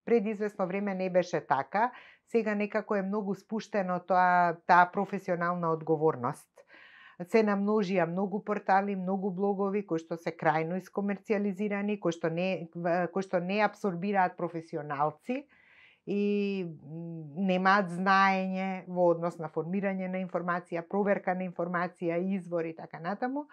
пред известно време не беше така, сега некако е многу спуштено таа професионална одговорност. Се намножија многу портали, многу блогови кои што се крајно искомерцијализирани, кои што не апсорбираат професионалци и немаат знаење во однос на формирање на информација, проверка на информација, извори и така натаму.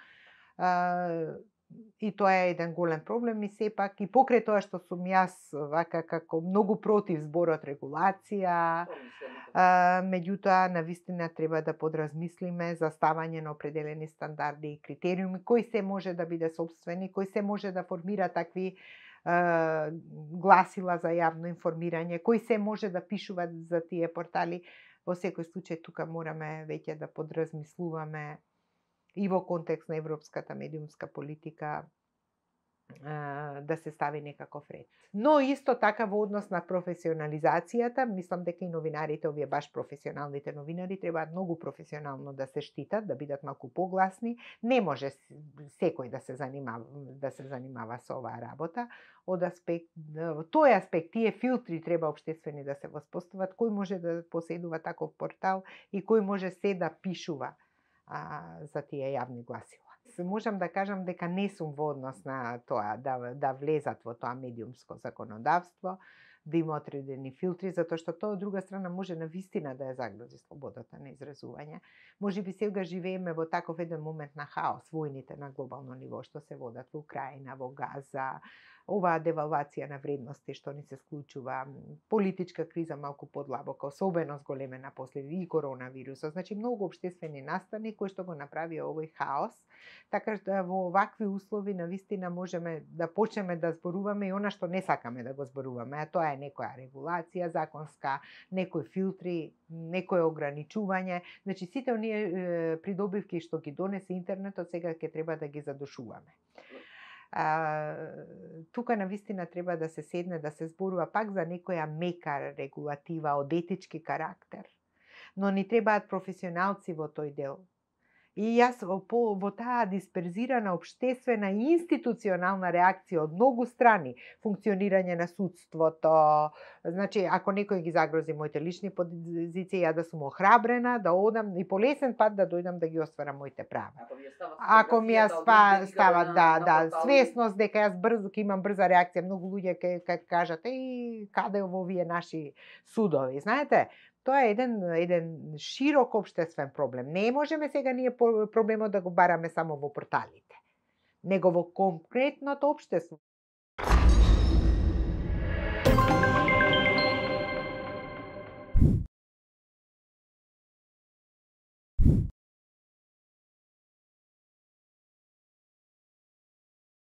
И тоа е еден голем проблем и сепак и покрај тоа што сум јас вака како многу против зборот регулација, меѓутоа навистина треба да подразмислиме за ставање на определени стандарди и критериуми, кој се може да биде сопствени, кој се може да формира такви гласила за јавно информирање, кој се може да пишуваат за тие портали. Во секој случај тука мораме веќе да подразмислуваме и во контекст на европската медиумска политика да се стави некаков ред. Но исто така во однос на професионализацијата, мислам дека и новинарите, овие баш професионалните новинари, требаат многу професионално да се штитат, да бидат малку погласни. Не може секој да се занимава со оваа работа. Од тој аспект, тие филтри треба општествени да се воспостават, кој може да поседува таков портал и кој може се да пишува за тие јавни гласила. Можам да кажам дека не сум во однос на тоа да влезат во тоа медиумско законодавство, да има одредени филтри, затоа што тоа од друга страна може навистина да ја загрози слободата на изразување. Можеби сега живееме во таков еден момент на хаос, војните на глобално ниво што се водат во Украина, во Газа, оваа девалвација на вредности што ни се склучува, политичка криза малку подлабока, особено зголемена после и коронавирусот. Значи многу општествени настани кои што го направија овој хаос. Така што во овакви услови навистина можеме да почнеме да зборуваме и она што не сакаме да го зборуваме, а тоа е некоја регулација законска, некои филтри, некое ограничување. Значи сите оние придобивки што ги донесе интернетот сега ќе треба да ги задушуваме. Тука навистина треба да се седне да се зборува пак за некоја мека регулатива од етички карактер, но ни требаат професионалци во тој дел. И јас во таа дисперзирана општествена и институционална реакција од многу страни, функционирање на судството, значи ако некој ги загрози моите лични позиции, ја да сум охрабрена, да одам и по лесен пат да дојдам да ги остварам моите права. Ако ми ја стават свесност дека јас брзо ќе имам брза реакција, многу луѓе ќе кажат каде во овие наши судови, знаете? Тоа е еден широк општествен проблем. Не можеме сега ние проблемот да го бараме само во порталите, него во конкретното општество.